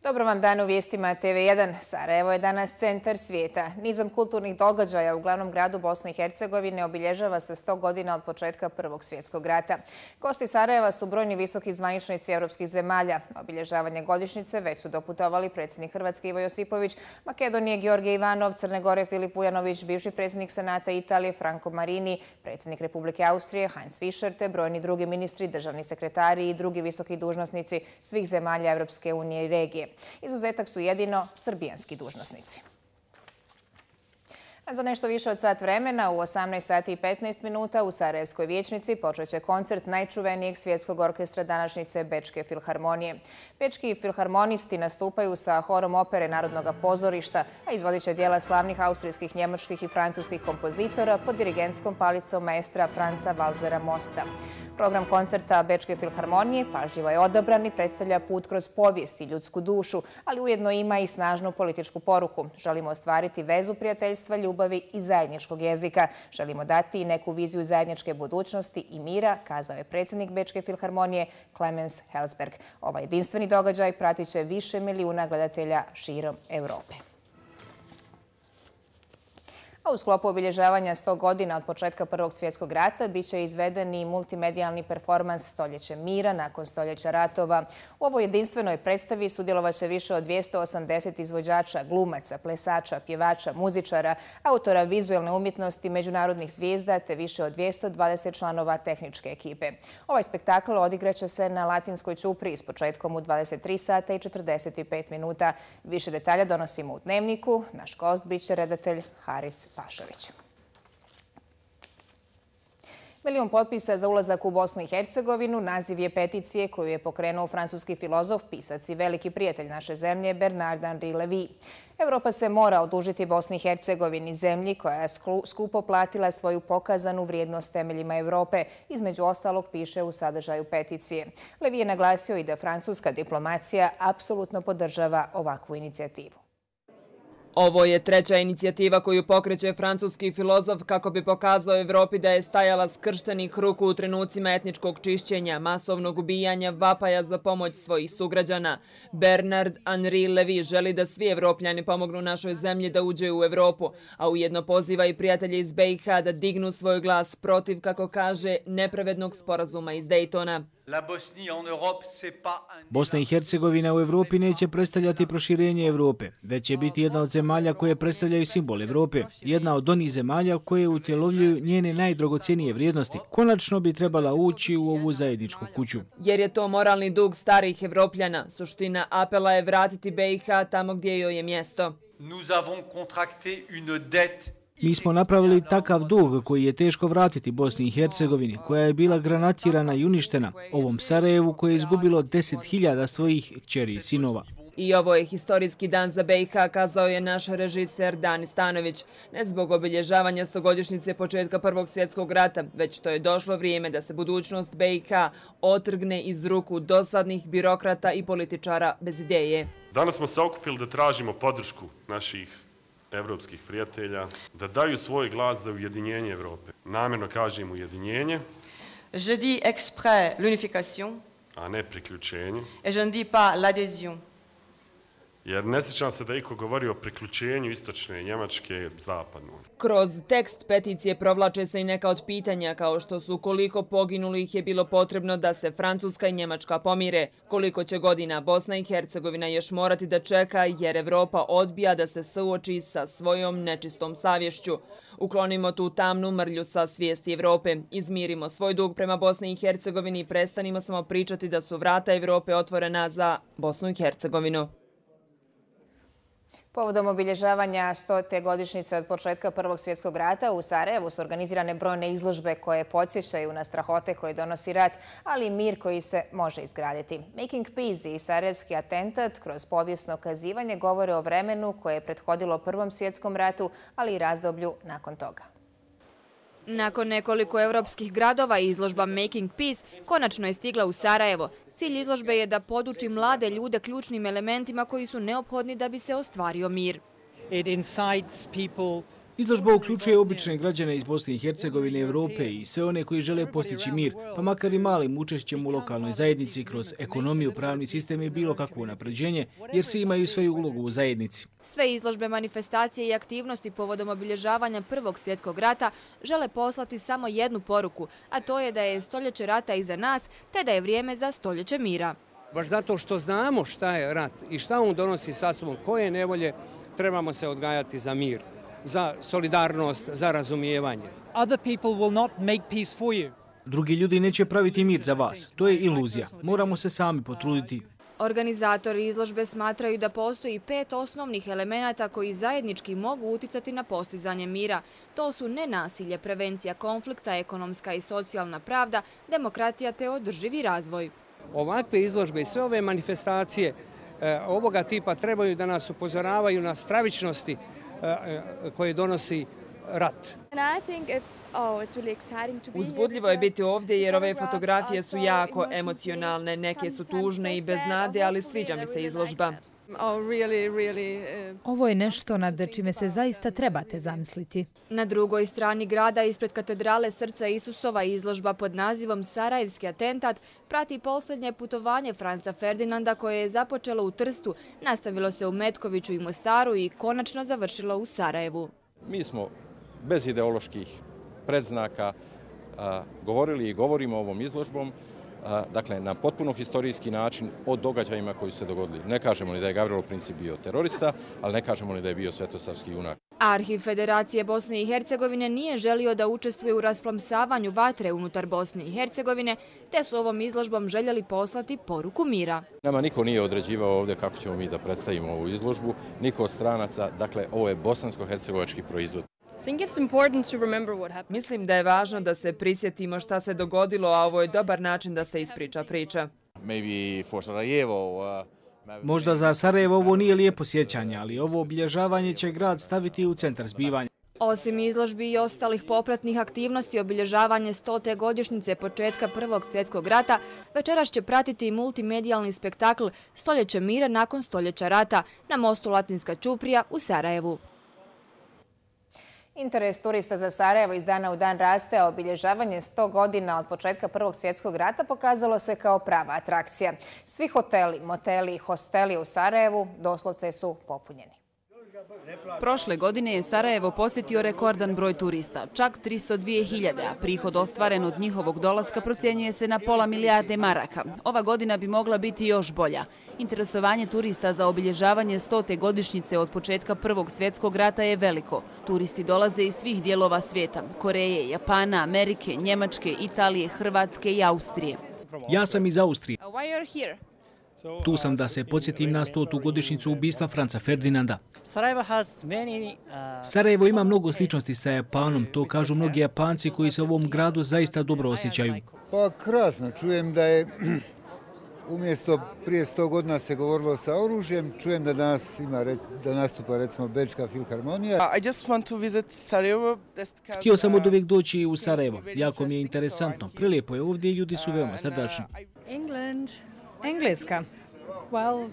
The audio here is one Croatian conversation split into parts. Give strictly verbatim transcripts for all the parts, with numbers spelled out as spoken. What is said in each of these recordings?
Dobro vam dan u vijestima T V jedan. Sarajevo je danas centar svijeta. Nizom kulturnih događaja u glavnom gradu Bosne i Hercegovine obilježava se sto godina od početka Prvog svjetskog rata. Gosti Sarajeva su brojni visoki zvaničnici evropskih zemalja. Obilježavanje godišnjice već su doputovali predsjednik Hrvatske Ivo Josipović, Makedonije Georgije Ivanov, Crne Gore Filip Vujanović, bivši predsjednik Senata Italije Franco Marini, predsjednik Republike Austrije Heinz Fischer te brojni drugi ministri, državni sekretari i drugi visoki dužnosnici svih zemalja Evropske unije i regije. Izuzetak su jedino srbijanski dužnosnici. A za nešto više od sat vremena u osamnaest sati i petnaest minuta u Sarajevskoj vijećnici počeće koncert najčuvenijeg svjetskog orkestra današnjice Bečke filharmonije. Bečki filharmonisti nastupaju sa horom opere Narodnog pozorišta, a izvodit će dijela slavnih austrijskih, njemačkih i francuskih kompozitora pod dirigentskom palicom maestra Franca Valzera Mosta. Program koncerta Bečke filharmonije pažljivo je odabran i predstavlja put kroz povijest i ljudsku dušu, ali ujedno ima i snažnu političku poruku. Želimo ostvariti vezu prijateljstva, ljubavi i zajedničkog jezika. Želimo dati i neku viziju zajedničke budućnosti i mira, kazao je predsjednik Bečke filharmonije Clemens Helsberg. Ovaj jedinstveni događaj pratit će više milijuna gledatelja širom Europe. U sklopu obilježavanja sto godina od početka Prvog svjetskog rata biće izveden i multimedijalni performans Stoljeće mira nakon stoljeća ratova. U ovoj jedinstvenoj predstavi sudjelovaće više od dvjesto osamdeset izvođača, glumaca, plesača, pjevača, muzičara, autora vizualne umjetnosti, međunarodnih zvijezda te više od dvjesto dvadeset članova tehničke ekipe. Ovaj spektakl odigraće se na Latinskoj ćupriji s početkom u dvadeset tri sata i četrdeset pet minuta. Više detalja donosimo u Dnevniku. Naš gost biće redatelj Haris Pašović. Milijun potpisa za ulazak u Bosnu i Hercegovinu naziv je peticije koju je pokrenuo francuski filozof, pisac i veliki prijatelj naše zemlje Bernard-Henri Lévy. Evropa se mora odužiti Bosni i Hercegovini, zemlji koja je skupo platila svoju pokazanu vrijednost temeljima Evrope, između ostalog piše u sadržaju peticije. Lévy je naglasio i da francuska diplomacija apsolutno podržava ovakvu inicijativu. Ovo je treća inicijativa koju pokreće francuski filozof kako bi pokazao Evropi da je stajala skrštenih ruku u trenucima etničkog čišćenja, masovnog ubijanja, vapaja za pomoć svojih sugrađana. Bernard-Henri Lévy želi da svi Evropljani pomognu našoj zemlji da uđe u Evropu, a ujedno poziva i prijatelje iz B i H da dignu svoj glas protiv, kako kaže, nepravednog sporazuma iz Dejtona. Bosna i Hercegovina u Evropi neće predstavljati proširenje Evrope, već će biti jedna od zemalja koje predstavljaju simbol Evrope, jedna od onih zemalja koje utjelovljuju njene najdragocjenije vrijednosti. Konačno bi trebala ući u ovu zajedničku kuću. Jer je to moralni dug starih Evropljana. Suština apela je vratiti B i H tamo gdje joj je mjesto. Mi smo napravili takav dug koji je teško vratiti Bosni i Hercegovini, koja je bila granatirana i uništena, ovom Sarajevu koje je izgubilo deset hiljada svojih kćeri i sinova. I ovo je historijski dan za B i H, kazao je naš režiser Dani Stanović. Ne zbog obilježavanja stogodišnjice početka Prvog svjetskog rata, već to je došlo vrijeme da se budućnost B i H otrgne iz ruku dosadnih birokrata i političara bez ideje. Danas smo se okupili da tražimo podršku naših evropskih prijatelja, da daju svoj glas za ujedinjenje Evrope. Namjerno kažem ujedinjenje. Je dis exprès l'unification. A ne priključenje. Et je ne dis pas l'adhésion. Jer ne sjećam se da iko govori o priključenju istočne Njemačke zapadno. Kroz tekst peticije provlače se i neka od pitanja kao što su koliko poginulih je bilo potrebno da se Francuska i Njemačka pomire, koliko će godina Bosna i Hercegovina još morati da čeka jer Evropa odbija da se suoči sa svojom nečistom savješću. Uklonimo tu tamnu mrlju sa svijesti Evrope, izmirimo svoj dug prema Bosni i Hercegovini i prestanimo samo pričati da su vrata Evrope otvorena za Bosnu i Hercegovinu. Povodom obilježavanja stote godišnjice od početka Prvog svjetskog rata u Sarajevu su organizirane brojne izložbe koje podsjećaju na strahote koje donosi rat, ali i mir koji se može izgraditi. Making Peace i sarajevski atentat kroz povijesno kazivanje govore o vremenu koje je prethodilo Prvom svjetskom ratu, ali i razdoblju nakon toga. Nakon nekoliko evropskih gradova izložba Making Peace konačno je stigla u Sarajevo. Cilj izložbe je da poduči mlade ljude ključnim elementima koji su neophodni da bi se ostvario mir. It incites people Izložba uključuje obične građane iz Bosne i Hercegovine, Evrope i sve one koji žele postići mir, pa makar i malim učešćem u lokalnoj zajednici kroz ekonomiju, pravni sistem i bilo kakvo napređenje, jer svi imaju svoju ulogu u zajednici. Sve izložbe, manifestacije i aktivnosti povodom obilježavanja Prvog svjetskog rata žele poslati samo jednu poruku, a to je da je stoljeće rata iza nas, te da je vrijeme za stoljeće mira. Baš zato što znamo šta je rat i šta on donosi sa sobom, koje nevolje, trebamo se odgajati za mir, za solidarnost, za razumijevanje. Other people will not make peace for you. Drugi ljudi neće praviti mir za vas. To je iluzija. Moramo se sami potruditi. Organizatori izložbe smatraju da postoji pet osnovnih elemenata koji zajednički mogu uticati na postizanje mira. To su nenasilje, prevencija konflikta, ekonomska i socijalna pravda, demokratija te održivi razvoj. Ovakve izložbe i sve ove manifestacije e, ovoga tipa trebaju da nas upozoravaju na stravičnosti e, koje donosi rat. Uzbudljivo je biti ovdje jer ove fotografije su jako emocionalne, neke su tužne i bez nade, ali sviđa mi se izložba. Ovo je nešto nad čime se zaista trebate zamisliti. Na drugoj strani grada, ispred katedrale Srca Isusova, izložba pod nazivom Sarajevski atentat prati posljednje putovanje Franca Ferdinanda koje je započelo u Trstu, nastavilo se u Metkoviću i Mostaru i konačno završilo u Sarajevu. Mi smo bez ideoloških predznaka a, govorili i govorimo ovom izložbom, a, dakle na potpuno historijski način o događajima koji su se dogodili. Ne kažemo ni da je Gavrilo Princip bio terorista, ali ne kažemo ni da je bio svetosavski junak. Arhiv Federacije Bosne i Hercegovine nije želio da učestvuje u rasplamsavanju vatre unutar Bosne i Hercegovine, te su ovom izložbom željeli poslati poruku mira. Nama niko nije određivao ovdje kako ćemo mi da predstavimo ovu izložbu, niko od stranaca, dakle ovo je bosansko-hercegovački proizvod. Mislim da je važno da se prisjetimo šta se dogodilo, a ovo je dobar način da se ispriča priča. Možda za Sarajevo ovo nije lijepo sjećanje, ali ovo obilježavanje će grad staviti u centar zbivanja. Osim izložbi i ostalih popratnih aktivnosti, obilježavanje stote godišnjice početka Prvog svjetskog rata večeras će pratiti i multimedijalni spektakl Stoljeće mira nakon stoljeća rata na mostu Latinska Ćuprija u Sarajevu. Interes turista za Sarajevo iz dana u dan raste, a obilježavanje sto godina od početka Prvog svjetskog rata pokazalo se kao prava atrakcija. Svi hoteli, moteli i hosteli u Sarajevu doslovce su popunjeni. Prošle godine je Sarajevo posjetio rekordan broj turista, čak tristo dvije hiljade, a prihod ostvaren od njihovog dolaska procjenjuje se na pola milijarde maraka. Ova godina bi mogla biti još bolja. Interesovanje turista za obilježavanje stote godišnjice od početka Prvog svjetskog rata je veliko. Turisti dolaze iz svih dijelova svijeta, Koreje, Japana, Amerike, Njemačke, Italije, Hrvatske i Austrije. Ja sam iz Austrije. Tu sam da se podsjetim na stotu godišnjicu ubistva Franca Ferdinanda. Sarajevo ima mnogo sličnosti sa Japanom, to kažu mnogi Japanci koji se u ovom gradu zaista dobro osjećaju. Pa krasno, čujem da je umjesto prije sto godina se govorilo sa oružjem, čujem da danas ima da nastupa recimo Bečka filharmonija. Htio sam od uvijek doći u Sarajevo, jako mi je interesantno, prelijepo je ovdje i ljudi su veoma srdačni. England. Engleska. Well,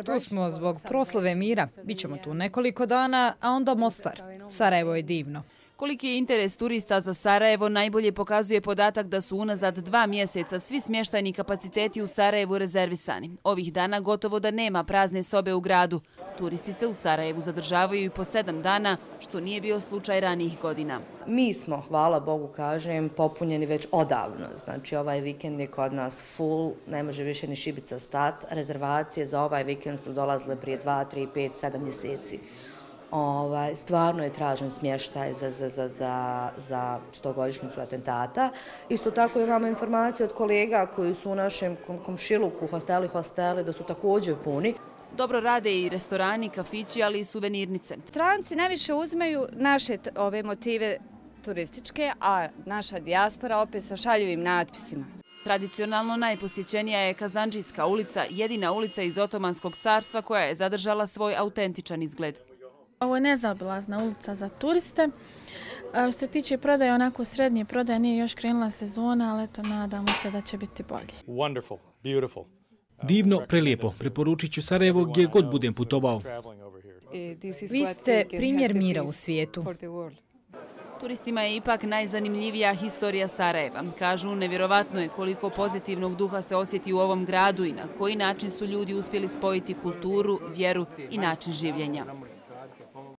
tu smo zbog proslave mira. Bićemo tu nekoliko dana, a onda Mostar. Sarajevo je divno. Koliki je interes turista za Sarajevo najbolje pokazuje podatak da su unazad dva mjeseca svi smještajni kapaciteti u Sarajevu rezervisani. Ovih dana gotovo da nema prazne sobe u gradu. Turisti se u Sarajevu zadržavaju i po sedam dana, što nije bio slučaj ranijih godina. Mi smo, hvala Bogu kažem, popunjeni već odavno. Znači ovaj vikend je kod nas full, ne može više ni šibica stat. Rezervacije za ovaj vikend su dolazile prije dva, tri, pet, sedam mjeseci. Ovaj, stvarno je tražen smještaj za, za, za, za, za stogodišnjicu atentata. Isto tako imamo informacije od kolega koji su u našem komšiluku, hoteli, hosteli, da su također puni. Dobro rade i restorani, kafići, ali i suvenirnice. Stranci najviše uzmaju naše ove motive turističke, a naša dijaspora opet sa šaljivim natpisima. Tradicionalno najposjećenija je Kazandžijska ulica, jedina ulica iz Otomanskog carstva koja je zadržala svoj autentičan izgled. Ovo je nezaobilazna ulica za turiste. Što se tiče prodaje, onako srednje prodaje, nije još krenula sezona, ali eto, nadamo se da će biti bolje. Divno, prelijepo. Preporučit ću Sarajevo gdje god budem putovao. Vi ste primjer mira u svijetu. Turistima je ipak najzanimljivija historija Sarajeva. Kažu, nevjerovatno je koliko pozitivnog duha se osjeti u ovom gradu i na koji način su ljudi uspjeli spojiti kulturu, vjeru i način življenja.